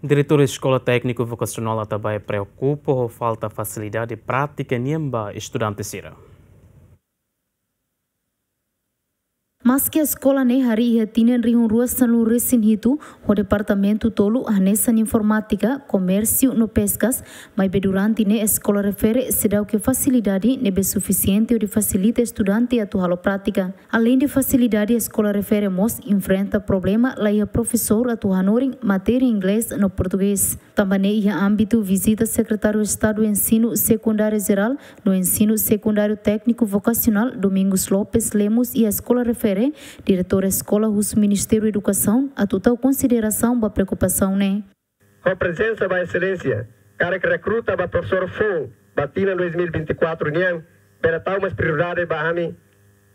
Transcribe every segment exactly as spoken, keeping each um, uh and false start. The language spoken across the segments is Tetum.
Diretór Eskola Tékniku Vokasionál Atabae preokupa ho falta fasilidade prátika nian ba estudante sira. Maski eskola ne'e harii iha tinan rihun rua sanulu resin hitu, ho departamentu tolu hanesan informátika, komérsiu no peskas, maibé durante ne'e eskola refere seidauk iha fasilidade ne'ebé sufisiente hodi fasilita estudante atu halo prátika. Aleinde fasilidade, eskola refere mós enfrenta problema la iha profesór atu hanorin matéria inglés no portugés. Tanba ne'e iha ámbitu vizita Sekretáriu Estadu Ensinu Sekundáriu Jerál no Ensinu Sekundáriu Tékniku Vokasionál Domingos Lopes Lemos iha eskola refere, diretór eskola husu Ministériu Edukasaun atu tau konsiderasaun ba preokupasaun ne'e. Ho prezensa ba Exelénsia, karik rekruta ba profesór foun ba tinan dois mil e vinte e quatro nian, bele tau mós prioridade ba ami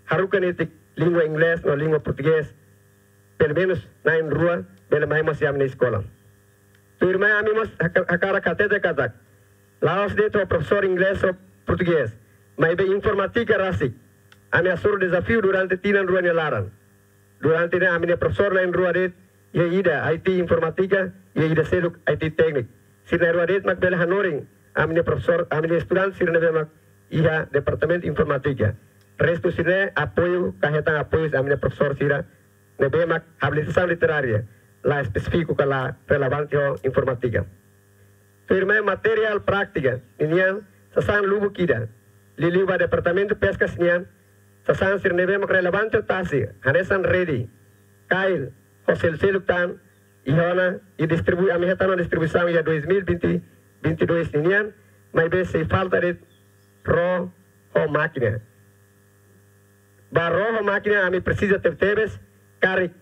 haruka netik língua inglés no língua portugés, pelumenus na'in rua bele mai mós iha ami-nia eskola. Tuirmai ami mós haka-, hakarak hatete katak la'ós de'it ho profesór inglés ho portugés, maibé informátika rasik ami hasoru dezafiu durante tinan rua nia laran. Durante ne'e ami-nia profesór na'in rua de'it, iha ida I T informátika, iha ida seluk I T tékniku. Sira na'in rua de'it mak bele hanorin ami-nia profesór, ami-nia estudante sira ne'ebé mak iha departamentu informátika. Restu sira-ne'e apoiu, ka hetan apoiu ami-nia profesór sira ne'ebé mak abilitasaun literária la espesífiku ka la relevante ho informátika. Tuirmai materiál prátika ninian sasán lubuk ida. Liuliu ba departamentu peskas nian, sasán sira ne'ebé mak relevante tasi, hanesan rede, kail, ho seluk-seluk tan, iha ona, i distribui, ami hetan ona distribuisaun iha dois mil e vinte, vinte e dois ninian, maibé sei falta de'it ró ho mákina. Ba ró ho mákina ami presiza tebetebes, karik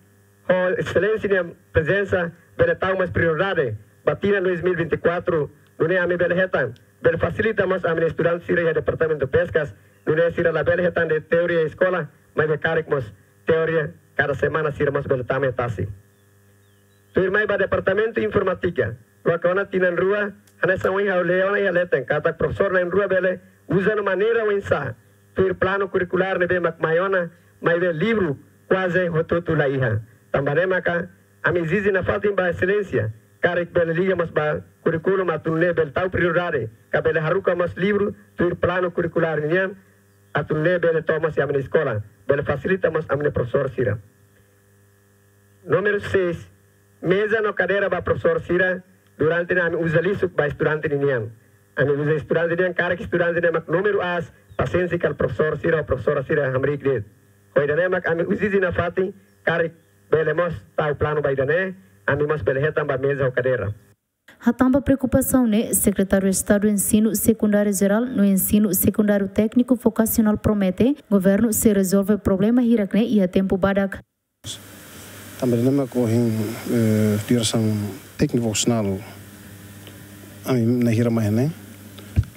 ho Exelénsia nia prezensa bele tau mós prioridade ba tinan dois mil e vinte e quatro, nune'e ami bele hetan, bele fasilita mós ami-nia estudante sira iha departamentu peskas, nune'e sira labele hetan de'it teoria eskola, maibé karik mós teoria kada semana sira mós bele tama iha tasi. Tuirmai ba departamentu informátika, loke ona tinan rua, hanesan ohin ha'u lee ona iha leten, katak profesór na'in rua bele uza no maneira oinsá, tuir planu kurrikulár ne'ebé mak mai ona, maibé livru kuaze hotu-hotu la iha. Tanba ne'e maka ami ezije nafatin ba Exelénsia, karik bele liga mós ba kurríkulu atu nune'e bele tau prioridade, ka bele haruka mós livru tuir planu kurrikulár nian, atu nune'e bele to'o mós iha ami-nia eskola, bele fasilita mós ami-nia profesór sira. Númeru seis, meza no kadeira ba profesór sira, durante ne'e ami uza lisuk ba estudante ninian. Ami uza estudante nian, karik estudante ne'e mak númeru aas, pasiénsia kal profesór sira ho profesora sira hamriik de'it. Ho ida-ne'e mak ami ezije nafatin, karik bele mós tau planu ba ida-ne'e, ami mós bele hetan ba meza ho kadeira. Hatán ba preokupasaun ne'e, Sekretáriu Estadu Ensinu Sekundáriu Jerál no Ensinu Sekundáriu Tékniku Vokasionál promete governu sei rezolve problema hirak-ne'e iha tempu badak. Tanba ne'e mak ohin, eh, diresaun tékniku vokasionál ami na'in hira mai ne'e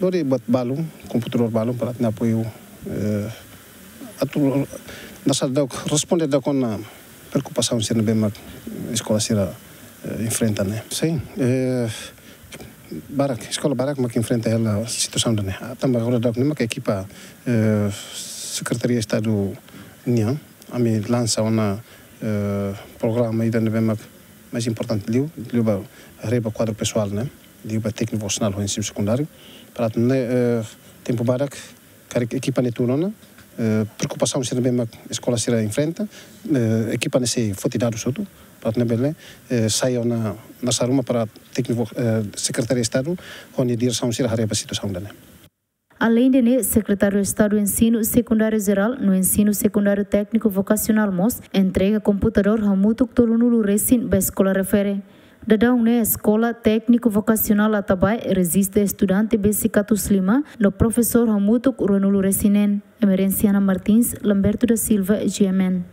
lori buat balu, komputadór balu para atu apoiu, eh, atu nasa dok responde dok ona preokupasaun sira ne'ebé mak eskola sira, eh, enfrenta ne'e. Sin, eh, barak, eskola barak mak enfrenta hela situasaun ida-ne'e. Ah, tanba agora daudaun ne'e mak ekipa, eh, Sekretaria Estadu nian, ami lansa ona, eh, programa ida ne'ebé mak mais importante liu, liu ba, haree ba kuadru pesoál ne'e, liu ba tékniku vokasionál ho ensinu sekundáriu. Para atu nune'e, eh, tempu badak, karik ekipa ne'e tun ona, eh, preokupasaun sira ne'ebé mak eskola sira enfrenta, eh, ekipa ne'e sei foti dadus hotu, para atu nune'e bele, eh, sai ona nasa ruma para tékniku, eh, Sekretaria Estadu, ho nia diresaun sira haree ba situasaun ida-ne'e. Aleinde ne'e, Sekretáriu Estadu Ensinu Sekundáriu Jerál no Ensinu Sekundáriu Tékniku Vokasionál mós entrega komputadór hamutuk tolunulu resin ba eskola refere. Daudaun ne'e eskola tékniku vokasionál Atabae rejista estudante besik atus lima, no profesór hamutuk ruanulu resin neen. Emerenciana Martins, Lamberto da Silva, G M N.